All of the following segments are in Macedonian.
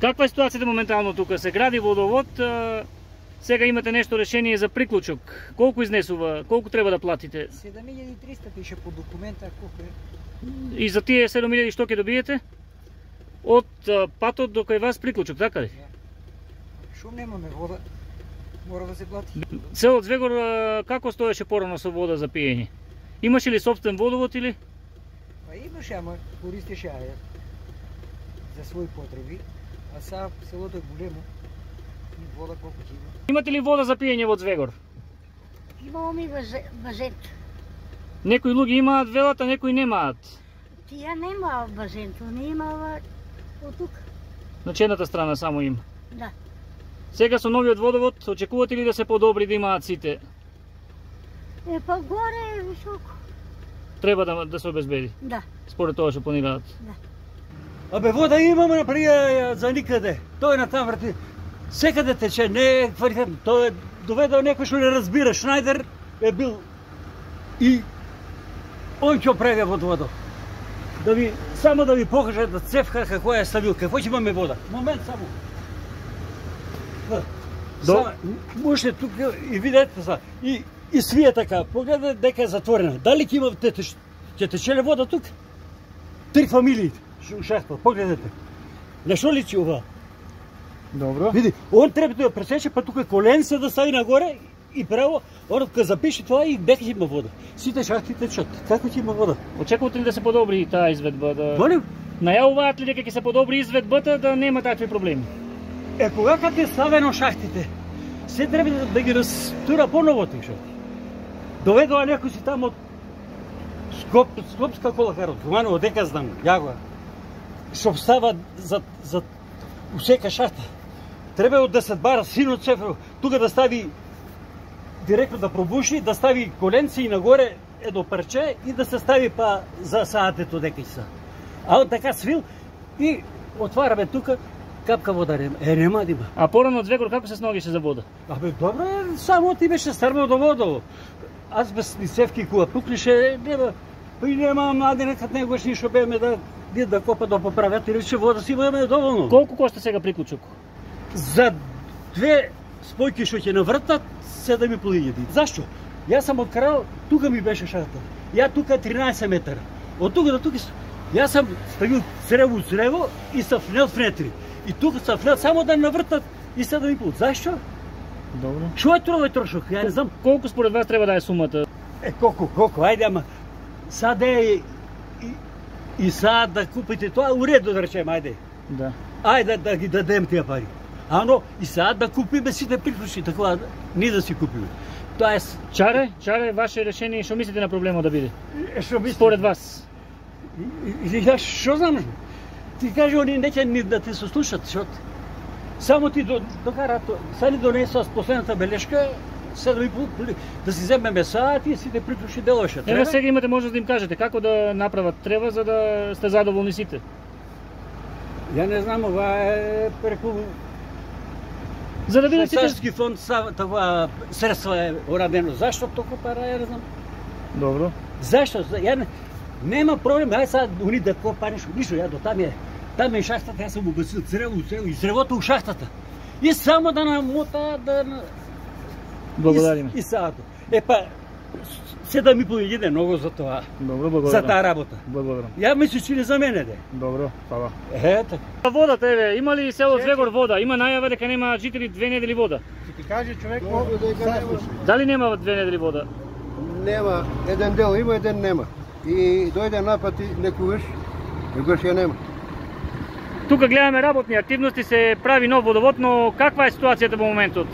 Каква е ситуацијата моментално тука? Се гради водовод, сега имате нешто решение за приклучок. Колку изнесува? Колку треба да платите? 7300 пише по документа, колку е. И за тие 7000 што ќе добиете? Од патот до кај вас приклучок, така ли? Шо немаме вода, мора да се плати. Село Звегор како стоеше порано со вода за пиење? Имаше ли собствен водовод или? Па имаше, ама користеше ја за своји потреби, а сега селото е големо и вода колку ќе има. Имате ли вода за пиење во Звегор? Имаме базен. Некои луѓе имаат велата, некои немаат. Тие нема базен, то не има од тук. На чедната страна само има. Да. Сега со новиот водовод, очекувате ли да се подобри да имаат сите? Па горе е високо. Треба да се обезбеди? Да. Според тоа што планираат? Да. Абе, вода имаме на прија за никаде. Тој на там врати. Секаде тече, не е квалитетно. Тој е доведал некој што не разбира. Шнајдер е бил и он ќе прави водоводот. Само да ви покаже да цевка како е ставил, какво ќе имаме вода. Момент само. Можете тук и видите са. И свие така, погледате дека е затворена. Дали ќе има ќе течеле вода тук? 3 фамилии шахта, погледате. На што личи ова? Добро. Види, он треба да пресече, па тука коленце да стави нагоре и право, он кога запише тоа и дека ќе има вода. Сите шахти течат. Како ќе има вода? Очекувате ли да се подобри таа изведба? Молим? Најавуваат ли дека ќе се подобри изведбата да нема такви проблеми? Кога е ставено шахтите, се треба да ги растура поново тие шахти. Доведува некој си тамо од Скопска колакар, од Гуманово, дека знам, јагова. Што става за усека шахта. Треба од 10 бара сино цефро, тука да стави директно да пробуши, да стави коленци и нагоре едно парче и да се стави па за саатето дека са. А од така свил и отвараме тука, капка вода нема да има. А порано од Звегор како се сногише за вода? Абе, добро е, само ти беше стрмал до водово. Аз без ни цевки кога пукнеше, нема. Па и нема млади некад негош ништо беме да копа да поправят и рече вода си имаме доволно. Колку кошта сега приклучок? За 2 спојки што ќе навртат 7.500. Зашто? Јас сам од Крал, тука ми беше шахта. Ја тука 13 метра. Од тука до тука јас сам ставил црево и сам внел внетри. И тука сам внел само да навртат и 7.500. Зашто? Добро. Што е тоа трошок? Ја не знам. Колку според вас треба да е сумата? Колку, ајде, ама сад е и сад да купите тоа, уредно да речем, ајде. Да. Ајде да ги дадем тие пари. Ано, и сад да купиме сите приклучи, така ние да си купиме. Тоа е... Чаре, ваше решение, што мислите на проблемот да биде? Што мислите? Според вас? Што знам? Ти кажи, они неќе ни да те сослушат, што само ти докара, са ни донесоа последната белешка, да си земеме саат и сите приклучи делоше. Ева сега имате можност да им кажете како да направат треба за да сте задоволни сите. Ја не знам, ова е преку за да видите Швајцарски фонд това средства е урадено. Зашто толку пара, ја не знам. Добро. Зашто? Ја нема проблем, ај сега уни да копа ништо, ја до там е шахтата, јас сум убасил црево и цревото у шахтата. И само да намота да благодариме. И саато. Епа 7.500 е многу за тоа. Добро, благодарам. За таа работа. Благодарам. Ја мислиш че за мене де. Добро, фала. Ето. Водата еве, има ли село Звегор вода? Има најава дека нема жители 2 недели вода. Ти каже човек Дали нема 2 недели вода? Нема, еден дел има, еден нема. И дојде напати некогаш ја нема. Тука гледаме работни активности, се прави нов водовод, но каква е ситуацијата во моментот?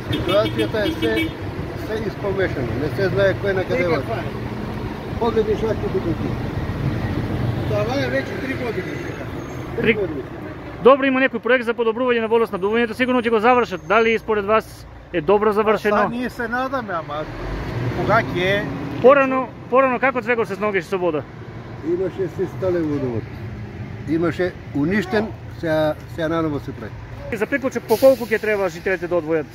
Ситуацијата е се испомешано, не се знае кој на каде води. Погледни шахти тука. Това е веќе 3 години. 3 години. Добро, има некој проект за подобрување на водоснабдувањето, сигурно ќе го завршат. Дали според вас е добро завршено? Ние се надаме, ама кога ќе е? Порано како Звегор се сногеше со вода? Имаше се стален водовод. Имаше уништен, сега наново се прави. За приклучок по колку ќе треба жителите да одвојат?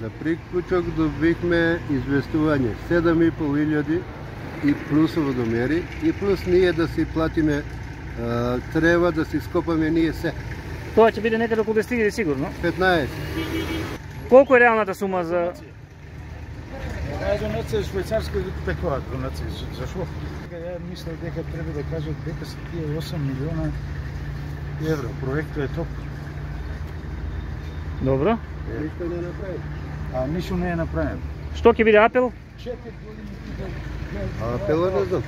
За приклучок добихме известување 7.500 и плюс водомери и плюс ние да си платиме треба да си скопаме ние се. Тоа ќе биде некаде околу 10.000 сигурно. 15. Колку е реалната сума за Таа донација е швајцарска такова донација. Зашо? Ја мислев дека треба да кажат дека се тие 8 милиона евро. Проектот е топ. Добро? Ништо не направи. А ништо не е направено. Што ќе биде апел? 4 години Апела не знам.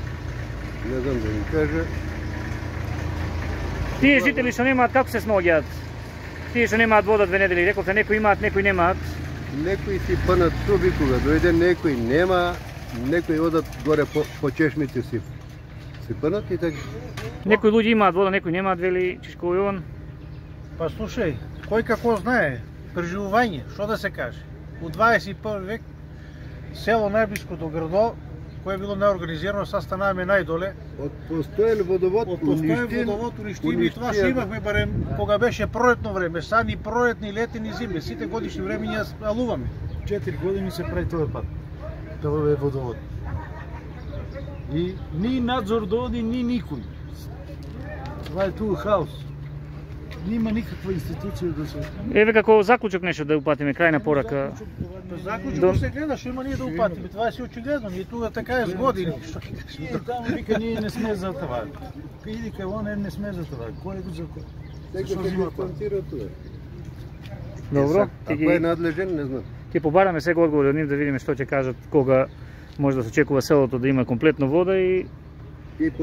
Не знам да ми кажа. Тие жители што немаат како се сноѓаат? Тие што немаат вода 2 недели, рековте некои имаат, некои немаат. Некои си пънат труби кога дојде, некои нема, некои одат горе по чешмите си пънат и така. Некои луѓе имаат вода, некои немаат, вели Чичко Јован. Па слушај, кој како знае, преживување, што да се каже. У 21 век село најблиско до градо, кое е било неорганизирано, са станаваме најдоле. Од постоен водовод уништим и това што имахме барем кога беше пролетно време, са ни пролетни, летни, зимни, сите годишни времења алуваме. 4 години се прави тој пат. Тоа е водовод. И ни надзор доди, ни никој. Това е тук хаос. Нема никаква институција да се... Еве како заклучок нешто да упатиме, крајна порака. Заклучок се гледа, што има ние да упатиме, това е си очигледно, ние тука така е с години. Ние таму вика ние не сме за това. Иди кај оне не сме за това. Кој е го за кој? Секој ќе дистанцира тоа. Добро, А кој е надлежен, не знам. ќе побараме сега одговори од нив да видиме што ќе кажат кога може да се очекува селото да има комплетно вода и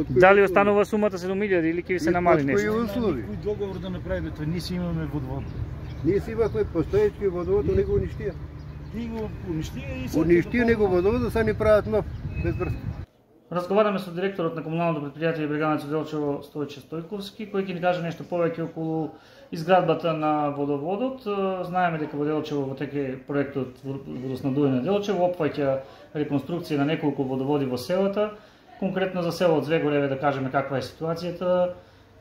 дали останува сумата 7.000 или ќе се намали Кои нешто. услови? Кој договор да направиме тоа? Ние си имаме водовод. Ние си имахме постоечки водовод, него уништија. Ти го уништија и се... Уништија него водовод, са ни прават нов, без врска. Разговараме со директорот на комуналното предпријатие Бреганец Делчево Стојче Стојковски, кој ќе ни каже нешто повеќе околу изградбата на водоводот. Знаеме дека во Делчево во теке проектот водоснабдување на Делчево опфаќа реконструкција на неколку водоводи во селата. Конкретно за село Звегореве да кажеме каква е ситуацијата.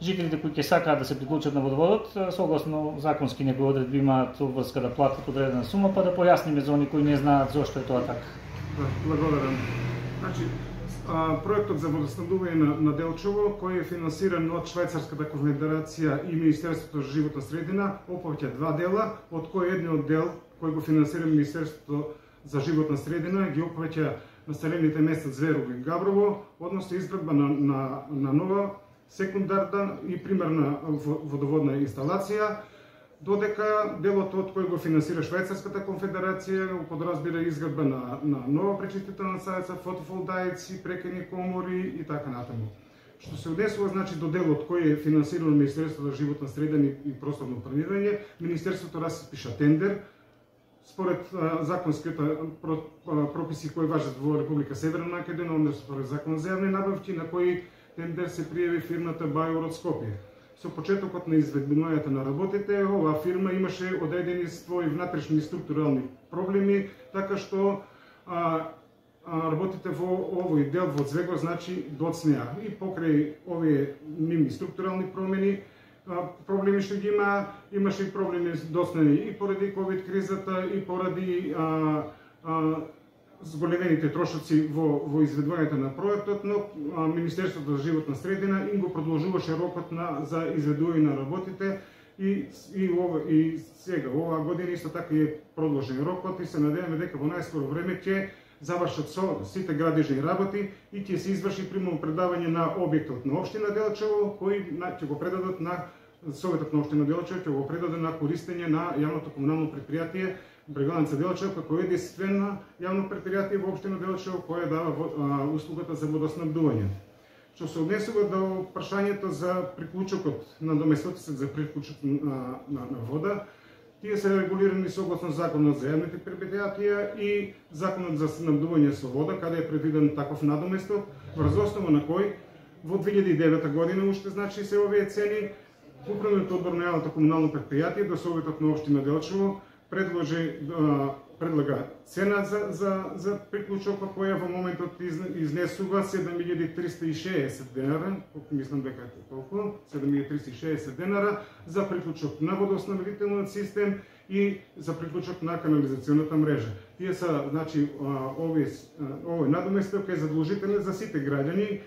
Жителите кои ќе сакаат да се приклучат на водоводот, согласно законски некои одредби имаат обврска да платат одредена сума, па да појасниме за они кои не знаат зошто е тоа така. Благодарам. Значи, проектот за водоснабдување на Делчево, кој е финансиран од Швајцарската конфедерација и Министерството за животна средина, опфаќа два дела, од кој едниот дел кој го финансира Министерството за животна средина ги опфаќа населените места Зверово и Габрово, односно изградба на нова секундарна и примерна водоводна инсталација, додека делот од кој го финансира Швајцарската конфедерација подразбира изградба на нова пречистителна станица, фотоволтаици, прекени комори и така натаму. Што се однесува значи до делот кој е финансирано Министерството за животна средина и просторно планирање, Министерството распиша тендер според законските прописи кои важат во Република Северна Македонија, односно според Закон за јавни набавки, на кој тендер се пријави фирмата Бајор од Скопје. Со почетокот на изведувањето на работите, оваа фирма имаше одредени своји внатрешни структурални проблеми, така што работите во овој дел во Звегор значи доцнеа. И покрај овие нивни структурални промени, проблеми што ги имаше и проблеми доцнени и поради ковид кризата и поради зголемените трошоци во изведувањето на проектот, но Министерството за животна средина им го продолжуваше рокот за изведување на работите и сега оваа година исто така е продолжен рокот и се надеваме дека во најскоро време ќе завршат со сите градежни работи и ќе се изврши примерно предавање на објектот на општина Делчево, кој ќе го предадат на Советот на општина Делчево, ќе го предаде на користење на јавното комунално предпријатие Бреганец Делчево, како единствено јавно предпријатие во општина Делчево кој дава услугата за водоснабдување. Што се однесува до прашањето за приклучокот на доместотецот за приклучок на вода, тие се регулирани согласно Законот за јавните предпријатија и Законот за снабдување со вода, каде е предвиден таков надоместок, врз основа на кој во 2009 година уште значи се овие цени, Управниот одбор на јавното комунално предпријатие до Советот на општина Делчево предлага цена за приклучокот која во моментот изнесува 7.360 денара, мислам дека е толку, 7.360 денара за приклучок на водоснабдителниот систем и за приклучок на канализационата мрежа. Тие са, значи, овој надоместок е задолжителен за сите граѓани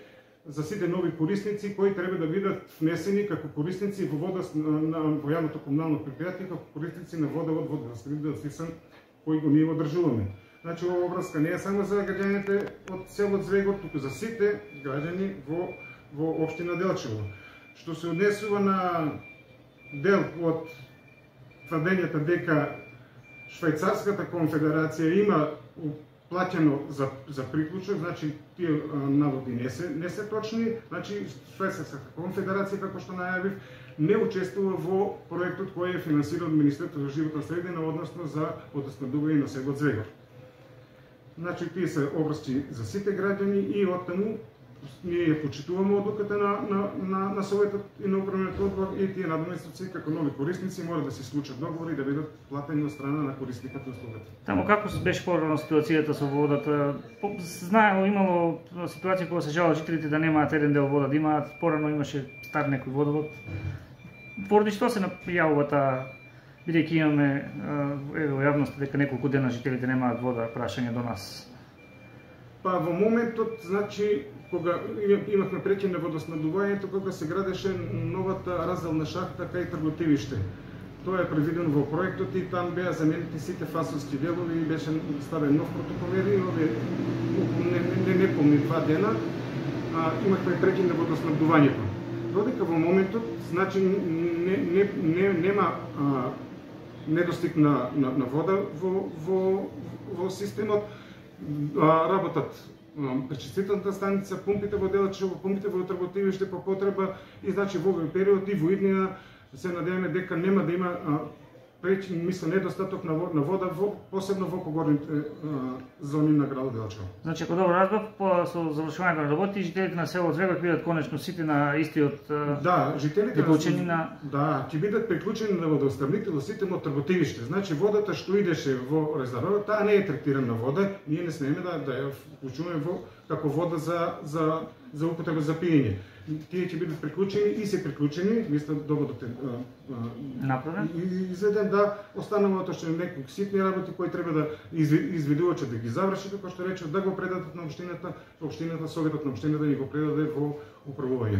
за сите нови корисници кои треба да бидат внесени како корисници во во јавното комунално предпријатие, како корисници на водовод, водоснабдителен систем кој го ние одржуваме. Значи, ова врска не е само за граѓаните од село Звегор, туку за сите граѓани во општина Делчево. Што се однесува на дел од тврдењата дека Швајцарската конфедерација има плаќено за приклучок, значи тие наводи не се точни, значи Швајцарската конфедерација, како што најавив, не учествува во проектот кој е финансиран од Министерството за животна средина, односно за водоснабдување на село Звегор. Значи, тие се обрски за сите граѓани и оттаму ние ја почитуваме одлуката на Советот и на Управниот одбор и тие надоместници како нови корисници мора да се случат договори и да бидат платени од страна на корисникот на услугата. Таму како беше порано ситуацијата со водата? Знаело, имало ситуација кога се жалат жителите да немаат еден дел вода, да имаат, порано имаше стар некој водовод. Поради што се најавува таа, бидејќи имаме во јавноста дека неколку дена жителите немаат вода, прашање до нас? Па во моментот, значи, кога имавме прекин на водоснабдувањето, кога се градеше новата разделна шахта кај Трготивиште. Тоа е предвидено во проектот и там беа заменети сите фасонски делови и беше ставен нов протоколер и овие неполни 2 дена имавме прекин на водоснабдувањето. Додека во моментот, значи, нема недостиг на вода во системот, работат пречистителната станица, пумпите во Делчево, пумпите во Трготивиште по потреба и значи во овој период и во иднина се надеваме дека нема да има недостаток на вода, посебно во погорните зони на градот Делчево. Значи, ако добро разбрав, со завршувањето на работи, жителите на село Звегор ќе бидат конечно сите на истиот жителите приклучени на... Да, ќе бидат приклучени на водоснабдителен систем од Трготивиште. Значи, водата што идеше во резервоарот, таа не е третирана вода, ние не смееме да ја вклучуваме како вода за употреба за пиење. Тие ќе бидат приклучени и се приклучени, мисля доводот е направен и изведен, да останалото што е некои ситни работи кои треба да изведувачот да ги заврши, како што рече, да го предадат на општината, Советот на општината да ни го предаде во управување.